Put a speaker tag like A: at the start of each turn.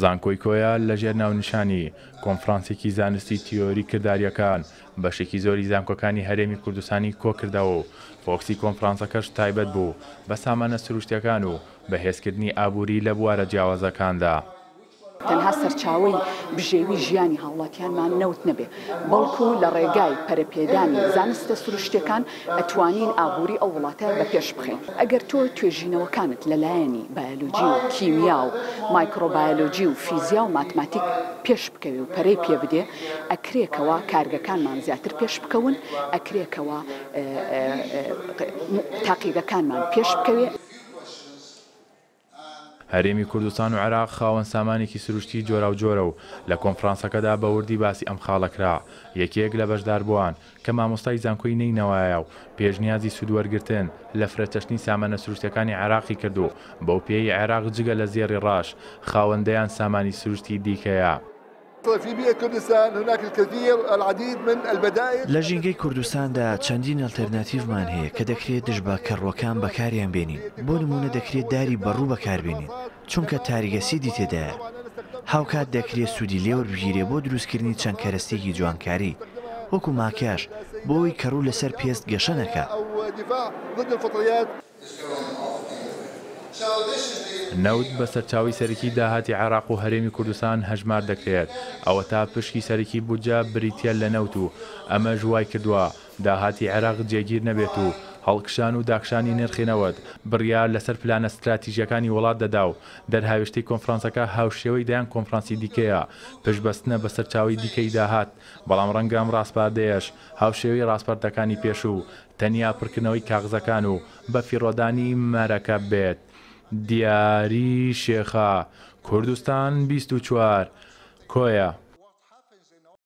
A: زانکۆی کۆیە لەژێر ناونیشانی، کۆنفرانسێکی زانستی تیۆری کردارییەکان، بەشێکی زۆری زانکۆکانی هەرێمی کوردستانی کۆکردەوە و فۆکسی کۆنفرانسەکەش تایبەت بوو بە سامانە سروشتییەکان و بەهێزکردنی ئابووری لە بوارە جیاوازەکاندا.
B: تەنها سەرچاوەی بژێوی ژیانی هاوڵاتیانمان نەوت نەبێ، بەڵکو لە ڕێگای پەرەپێدانی زانستە سروشتیەکان ئەتوانین ئابوری ئەو وڵاتە بە پێش بخەین. ئەگەر تۆ توێژینەوەکانت لە لایەنی بایۆلۆجی و کیمیا و مایکرۆبایۆلۆجی و فیزیا و ماتماتیک پێش بکەوێ و پەرەی پێ بدێ، ئەکرێ کەوا کارگەکانمان زیاتر پێش بکەون، ئەکرێ کەوا تاقیگەکانمان پێش بکەوێ.
A: هەرێمی کوردستان و عێراق خاوەن سامانێکی سروشتی جۆراوجۆرە و لە کۆنفرانسەکەدا بە وردی باسی ئەم خاڵە کرا. یەکێک لە بەشداربووان کە مامۆستای زانکۆی نەینەوایە و پێشنیازی سوودوەرگرتن لە فرەچەشنی سامانە سروشتیەکانی عێراقی کرد و بەو پێیەی عێراق جگە لە زێڕی ڕەش خاوەن دەیان سامانی سروشتی دیکەیە.
C: لە ژینگەی کوردستاندا چەندین ئەلتەرناتیڤمان هەیە کە دەکرێت دژ بە کەڕووەکان بەکاریان بێنین، بۆ نموونە دەکرێت داری بەڕوو بەکاربێنین چونکە تاریگەسیدی تێدایە، هاوکات دەکرێت سوودی لێوەربگیرێ بۆ دروستکردنی چەند کەرەستەیەکی جوانکاری وەکو ماکیاژ بۆ ئەوەی کەڕوو لەسەر پێست گەشە نەکا.
A: نەوت بە سەرچاوەی سەرەکی داهاتی عێراق و هەرێمی کوردستان هەژمار دەکرێت، ئەوەتا پشکی سەرەکی بودجە بریتییە لە نەوت و ئەمەش وایکردووە داهاتی عێراق جێگیر نەبێت و هەڵکشان و داکشانی نرخی نەوت بڕیار لەسەر پلانە ستراتیژییەکانی وڵات دەدا و دەرهاوێشتەی کۆنفرانسەکە هاوشێوەی دەیان کۆنفرانسی دیکەیە پشتبەستنە بە سەرچاوەی دیکەی داهات، بەڵام ڕەنگە ئەم ڕاسپاردەیەش هاوشێوەی ڕاسپاردەکانی پێشوو تەنیا پڕکردنەوەی کاغزەکان و بەفیڕۆدانی مەرەکەب بێت. دیاری شێخە، کوردستان 24، کۆیە.